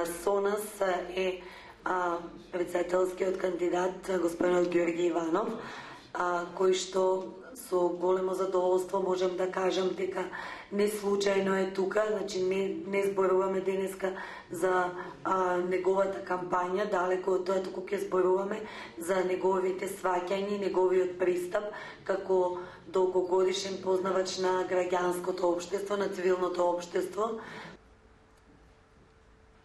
Со нас е председателскиот кандидат господинот Ѓорѓе Иванов, кој што со големо задоволство можем да кажам дека не случајно е тука, значи не зборуваме денеска за неговата кампања, далеко од тоа, туку ќе зборуваме за неговите сваќања, неговиот пристап како долгогодишен познавач на граѓанското општество, на цивилното општество.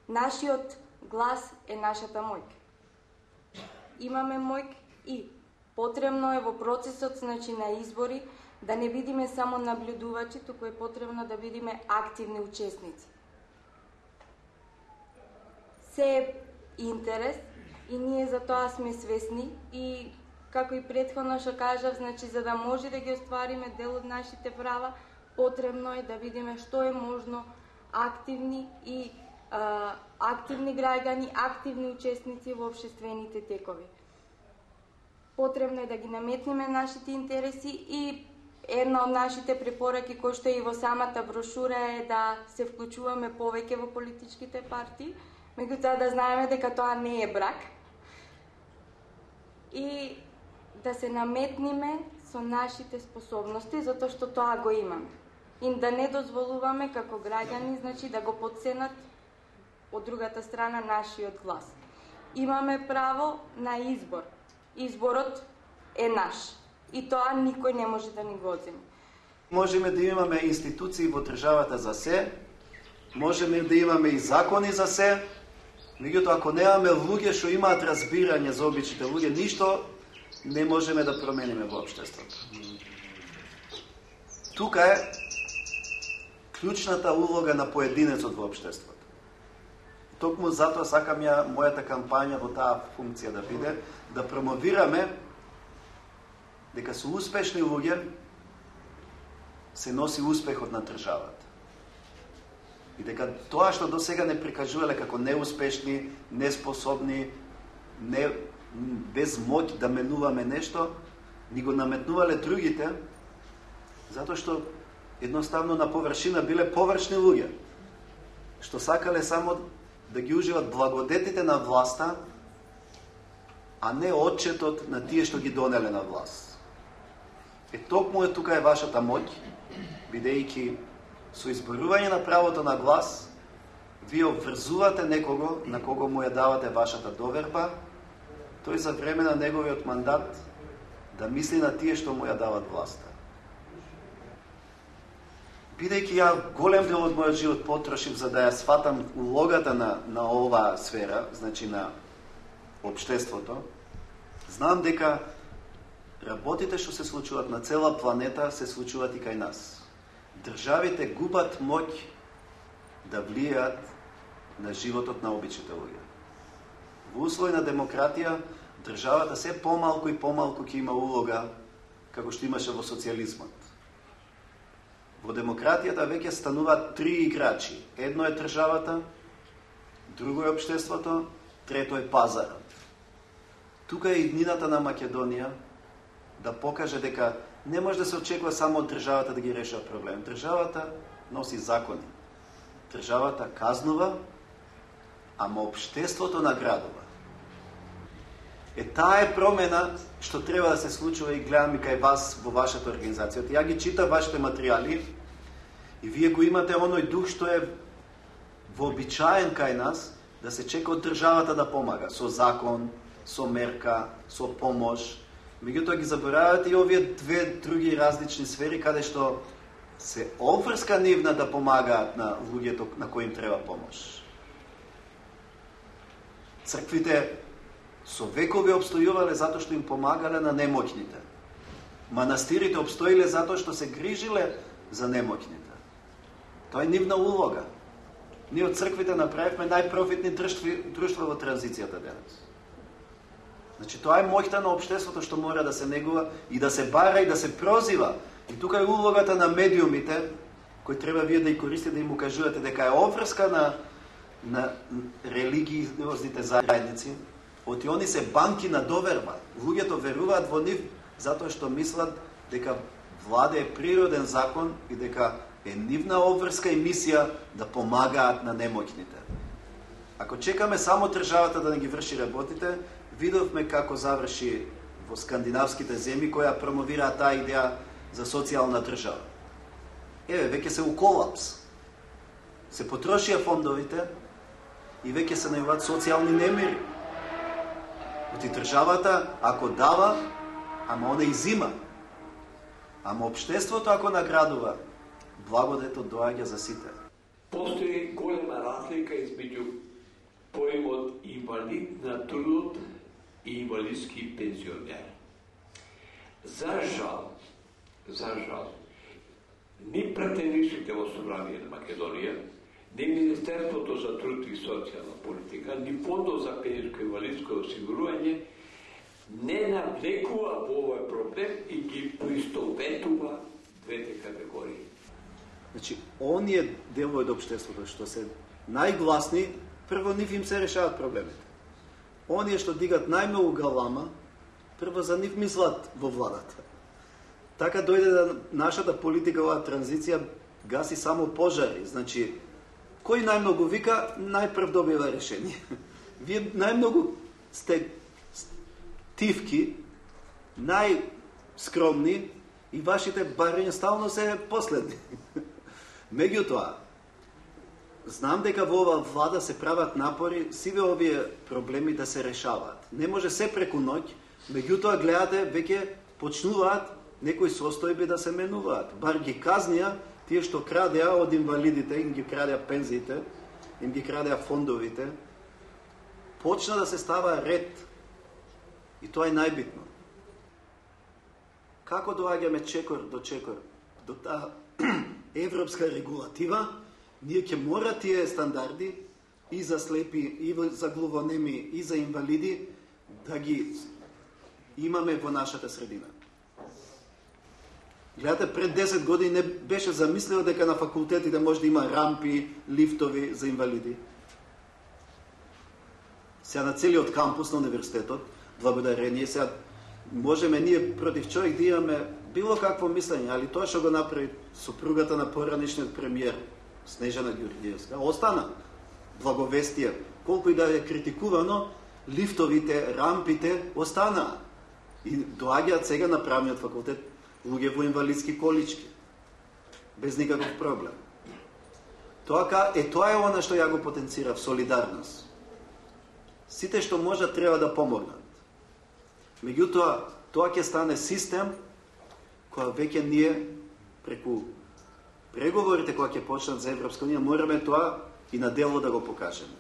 Нашиот глас е нашата моќ. Имаме моќ и потребно е во процесот, значи, на избори да не бидиме само наблюдувачи, туку е потребно да бидиме активни учесници. Се е интерес и ние за тоа сме свесни и како и претходно што кажав, значи, за да може да ги оствариме дел од нашите права, потребно е да видиме што е можно активни и активни граѓани, активни учесници во општествените текови. Потребно е да ги наметнеме нашите интереси и една од нашите препораки, кој што е и во самата брошура, е да се вклучуваме повеќе во политичките партии, меѓутоа да знаеме дека тоа не е брак и да се наметниме со нашите способности, затоа што тоа го имаме. И да не дозволуваме како граѓани, значи, да го потценат од другата страна нашиот глас. Имаме право на избор. Изборот е наш. И тоа никој не може да ни го одземе. Можеме да имаме институции во државата за се, можеме да имаме и закони за се, меѓутоа ако немаме луѓе што имаат разбирање за обичите луѓе, ништо не можеме да промениме во општеството. Тука е клучната улога на поединецот во општеството. Токму затоа сакам ја мојата кампања во таа функција да биде, да промовираме дека со успешни луѓе се носи успехот на државата. И дека тоа што до сега не прикажувале како неуспешни, неспособни, без моќ да менуваме нешто, ни го наметнувале другите, затоа што едноставно на површина биле површни луѓе, што сакале само да ги уживат благодетите на власта, а не отчетот на тие што ги донеле на власт. Токму е тука е вашата моќ, бидејќи со изборување на правото на глас, вие обврзувате некого на кого му ја давате вашата доверба, тој за време на неговиот мандат да мисли на тие што му ја дават власта. Бидејќи ја голем дел од мојот живот потрошив за да ја сватам улогата на оваа сфера, значи на општеството, знам дека работите што се случуваат на цела планета се случуваат и кај нас. Државите губат моќ да влијаат на животот на обичните луѓе. Во услови на демократија, државата се помалку и помалку ќе има улога како што имаше во социјализмот. Во демократијата веќе стануваат три играчи. Едно е државата, друго е општеството, трето е пазарот. Тука е иднината на Македонија да покаже дека не може да се очекува само од државата да ги решава проблем. Државата носи закони. Државата казнува, ама општеството наградува. Таа е промена што треба да се случува и гледам и кај вас во вашата организација. Ја ги читам вашите материјали и вие го имате оној дух што е вообичаен кај нас, да се чека од државата да помага со закон, со мерка, со помош. Меѓутоа ги заборавате и овие две други различни сфери каде што се обврска нивна да помагаат на луѓето на кои им треба помош. Црквите со векови обстојувале затоа што им помагале на немоќните. Манастирите обстоиле затоа што се грижиле за немоќните. Тоа е нивна улога. Ние од црквите направивме најпрофитни друштва во транзицијата денес. Значи, тоа е моќта на општеството што мора да се негува и да се бара и да се прозива. И тука е улогата на медиумите, кои треба вие да ја користите, да им укажувате дека е обврска на религиозните заедници. Оти они се банки на доверба. Луѓето веруваат во нив затоа што мислат дека влада е природен закон и дека е нивна обврска и мисија да помагаат на немоќните. Ако чекаме само државата да не ги врши работите, видовме како заврши во скандинавските земји која промовираат таа идеја за социјална држава. Веќе се у колапс. Се потрошија фондовите и веќе се најавуваат социјални немири. Оти државата, ако дава, ама она изима. Ама општеството, ако наградува, благодетот доаѓа за сите. Постои голема разлика измеѓу поимот инвалид на трудот и инвалидски пензионер. За жал, ни претенишите во Собрание на Македонија, ни Министерството за труд и социјална политика, ни Фондот за пензионско и инвалидско осигурување не навлекува во овој проблем и ги поистоветува двете категории. Значи, оние делови од општеството што се најгласни, прво нив им се решават проблемите. Оние што дигат најмногу галама, прво за нив мислат во владата. Така дојде да нашата политика, оваа транзиција, гаси само пожари. Значи, кој најмногу вика, најпрв добива решение. Вие најмногу сте тивки, најскромни и вашите барања стално се последни. Меѓутоа, знам дека во оваа влада се прават напори сиве овие проблеми да се решаваат. Не може се преку ноќ, меѓутоа гледате веќе почнуваат некои состојби да се менуваат. Бар ги казнија тие што крадеа од инвалидите, им ги крадеа пензиите, им ги крадеа фондовите. Почна да се става ред. И тоа е најбитно. Како доаѓаме чекор до таа европска регулатива, ние ќе мора тие стандарди и за слепи, и за глувонеми, и за инвалиди да ги имаме во нашата средина. Гледате, пред 10 години не беше замислено дека на факултетите може да има рампи, лифтови за инвалиди. Сега на целиот кампус на универзитетот, благодарение, сега можеме ние против човек да имаме било какво мислење, али тоа што го направи супругата на поранишниот премиер, Снежана Ѓурѓиевска, остана благовестие. Колку и да е критикувано, лифтовите, рампите останаа. И доаѓаат сега на правниот факултет луѓе во инвалидски колички. Без никаков проблем. Тоа е она што ја го потенцирав, солидарност. Сите што можат треба да помогнат. Меѓутоа, тоа ќе стане систем која веќе ние преку преговорите која ќе почнат за Европска унија мораме тоа и на дело да го покажеме.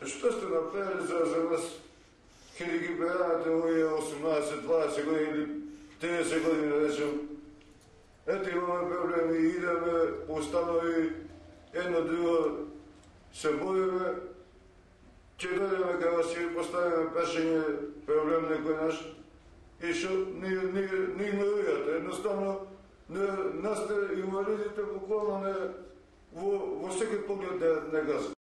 Што сте направили за нас каде ги берате овие 18-20 години или 30 години да речем? Ето имаме проблеми, идеме по установи, едно друго се бориме, ќе дојдеме кога си поставиме прашање проблем некој наш и што не игнорирате. Едноставно, нас инвалидите буквално во секој поглед не газат.